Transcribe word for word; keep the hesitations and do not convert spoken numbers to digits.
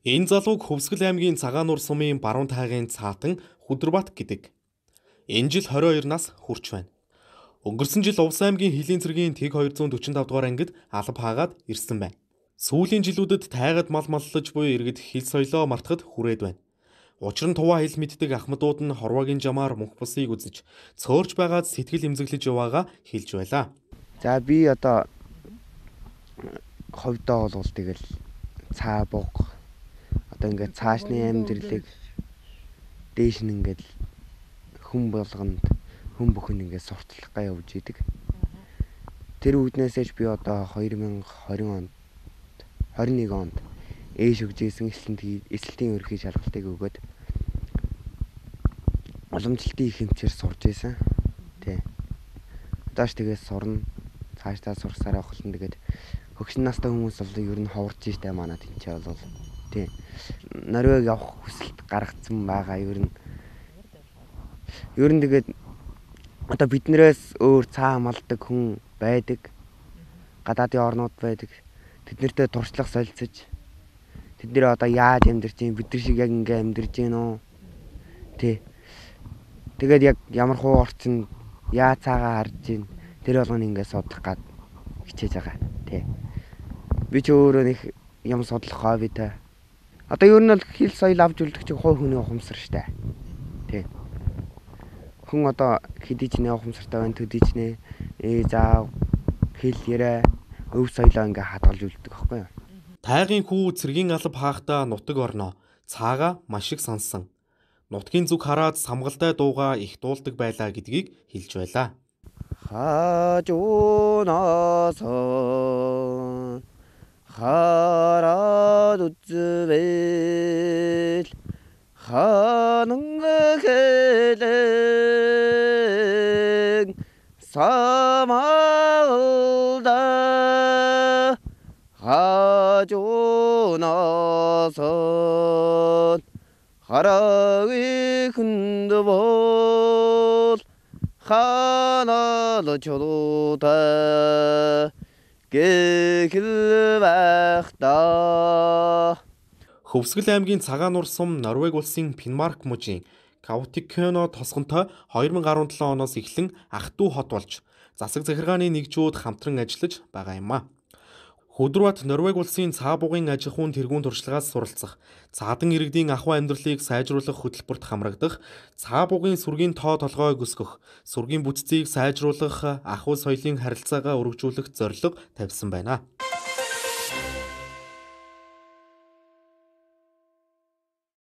Энэ залууг Хөвсгөл аймгийн Цагаануур сумын баруун тайгын Цаатан Хүдэрбат гэдэг. Энэ жил хорин хоёр нас хүрч байна. Өнгөрсөн жил Увс аймгийн Хилийн цэргийн Тэг хоёр дөрвөн тавь дугаар ангид алба хаагаад ирсэн байна. Сүүлийн жилүүдэд тайгад мал маллаж буй иргэд хил соёлоо мартахад хүрээд байна. Учир нь туваа хэл мэддэг ахмадууд нь хорвоогийн жамаар мөнх бусыг үзэж цөөрч байгаад сэтгэл эмзэглэж яваагаа хэлж байлаа. За би одоо ховдоо бол тэгэл цаа бог одоо ингээд цаашны амьдралыг дээш нь ингээд хүн болгонд хүн бүхэн ингээд сурталчилгаа явуулж идэг. Тэр үүднээсээч би одоо хоёр мянга хорин онд хорин нэг онд ээш өгж исэн эсэлтийн ерхий шалгалтыг өгөөд уламжлалтын их хэмжээр сурж исэн. Тэ. Одоош тэгээд сурна. Цаашдаа сурсараа холно тэгээд хөгшин настай хүмүүс бол ер нь ховорж штэ манай тэнцээ бол тий. Норвег явах хүсэлт гаргацсан байгаа ер нь. Ер нь тэгээд одоо биднээс өөр цаа малдаг хүн байдаг. Гадаадын орнууд байдаг. Тэднэртэй туршлах солилцож тэд нэр одоо яаж амьдарч юм бид нар шиг яг ингээ амьдарч гин үү тий. Тэгээд яг ямар хуу орчин яа цаагаа харж гин тэр болгоно ингээ судлах гад хичээж байгаа тий. Би ч өөрөө нэг юм судлах хоббитай. Одоо ер нь бол хэл соёл авч үлдэх чинь хой хүний ухамсар штэ. Тий. Хүн одоо хэдий ч нэ ухамсартай байна төдий ч нэ ээ заав хэл ярэ өв соёлоо ингээ хадгалж үлддэг байхгүй юу? Тайгын хүү цэргийн алба хаахтаа нутаг орноо цаага маш их сансан. Нутгийн зүг хараад самгалтай дууга их дуулдаг байлаа гэдгийг хэлж байлаа. Хажуунаасан хараад үзвэл ханангэлэн самалда хажуунаасан харааги хүндбол ханаал чулуутай гэхэл байхдаа. Хөвсгөл аймгийн Цагаануур сум Норвеги улсын Финмарк мужийн Каутиккёно тосгонтой хоёр мянга арван долоо оноос эхлэн ах дүү хот болж засаг захиргааны нэгжүүд хамтран ажиллаж байгаа юм а. Хүдэрбат Норвеги улсын цаа бугын аж ахуйн тэргуун туршлагаас суралцах, цаадан иргэдийн ахуй амьдралыг сайжруулах хөтөлбөрт хамрагдах, цаа бугын сүргийн тоо толгойг өсгөх, сүргийн бүтцийг сайжруулах, ахуй соёлын харилцаагаа өргөжүүлэх зорилго тавьсан байна.